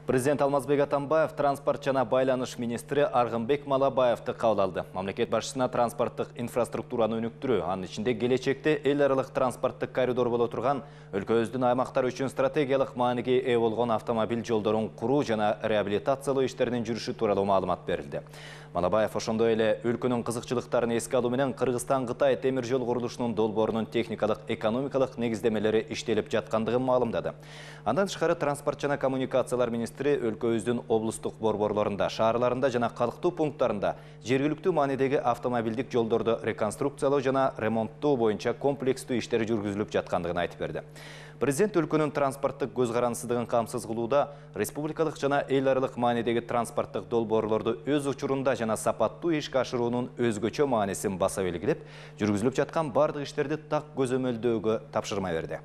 Президент Алмазбек Атамбаев транспорт жана байланыш министри Аргынбек Малабаевди кабыл алды. Мамлекет башчысына транспорттук инфраструктураны өнүктүрүү, анын ичинде келечекте эл аралык транспорттук коридор боло турган өлкөбүздүн аймактары үчүн стратегиялык мааниге ээ болгон автомобиль жолдорун куруу жана реабилитациялоо иштеринин жүрүшү тууралуу маалымат берилди. Малабаев ошондой эле өлкөнүн кызыкчылыктарын эске алуу менен Кыргызстан-Кытай темир жол курулушунун долбоорунун техникалык, экономикалык негиздемелери иштелип жаткандыгын маалымдады. Андан тышкары транспорт жана коммуникациялар министри өлкөбүздүн облустук борборлорунда, шаарларында жана калктуу пункттарында жергиликтүү маанидеги автомобилдик жолдорду реконструкциялоо жана ремонттоо боюнча комплекстүү иштер жүргүзүлүп жаткандыгын айтып берди. Президент өлкөнүн транспорттук көз карансыздыгын камсыз кылууда республикалык жана эл аралык маанидеги транспорттук долбоорлорду өз учурунда жана сапаттуу ишке ашыруунун өзгөчө маанисин баса белгилеп, жүргүзүлүп жаткан бардык иштерди так көзөмөлдөөгө тапшырма берди.